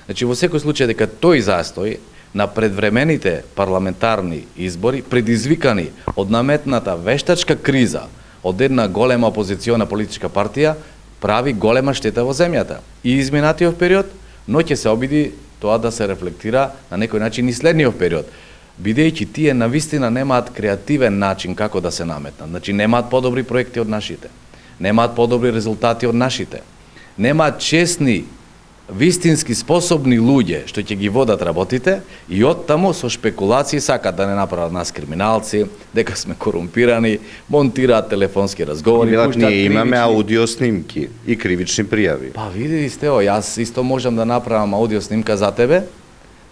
Значи, во секој случај дека тој застој на предвремените парламентарни избори, предизвикани од наметната вештачка криза од една голема опозициона политичка партија, прави голема штета во земјата. И изминатиот период, но ќе се обиди тоа да се рефлектира на некој начин и следниот период. Бидејќи тие навистина немаат креативен начин како да се наметнат. Значи, немаат подобри проекти од нашите, немаат подобри резултати од нашите, немаат честни, вистински способни луѓе што ќе ги водат работите и оттаму со шпекулации сакат да не направат нас криминалци, дека сме корумпирани, монтираат телефонски разговори, ние имаме аудио снимки и кривични пријави. Па види Стево, јас исто можам да направам аудио снимка за тебе,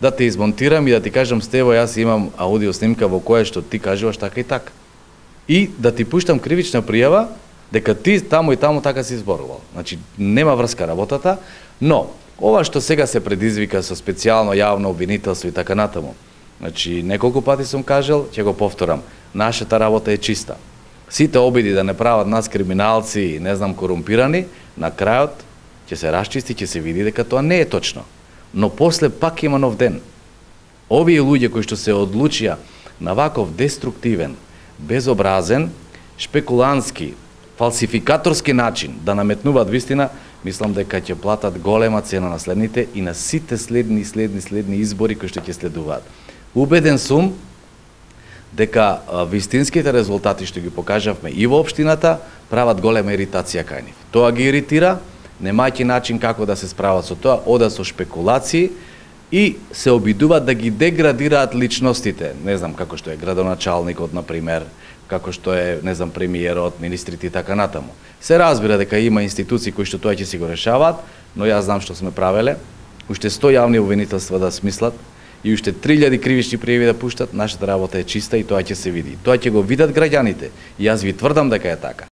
да те измонтирам и да ти кажам Стево, јас имам аудио снимка во која што ти кажуваш така и така. И да ти пуштам кривична пријава дека ти таму и таму така си зборувал. Значи нема врска работата, но ова што сега се предизвика со специјално јавно обвинителство и така натаму. Значи, неколку пати сум кажал, ќе го повторам, нашата работа е чиста. Сите обиди да не прават нас криминалци и не знам корумпирани, на крајот ќе се расчисти, ќе се види дека тоа не е точно. Но после пак има нов ден. Овие луѓе кои што се одлучија на ваков деструктивен, безобразен, шпекулантски, фалсификаторски начин да наметнуваат вистина, мислам дека ќе платат голема цена на следните и на сите следни избори кои што ќе следуваат. Убеден сум дека вистинските резултати што ги покажавме и во општината прават голема иритација кај нив. Тоа ги иритира, немајќи начин како да се справат со тоа, одат со шпекулации и се обидуваат да ги деградираат личностите, не знам како што е градоначалникот на пример, како што е, не знам, премиерот, министрите и така натаму. Се разбира дека има институции кои што тоа ќе си го решаваат, но јас знам што сме правеле, уште 100 јавни обвинителства да смислат и уште 3000 кривични пријави да пуштат, нашата работа е чиста и тоа ќе се види. Тоа ќе го видат граѓаните и јас ви тврдам дека е така.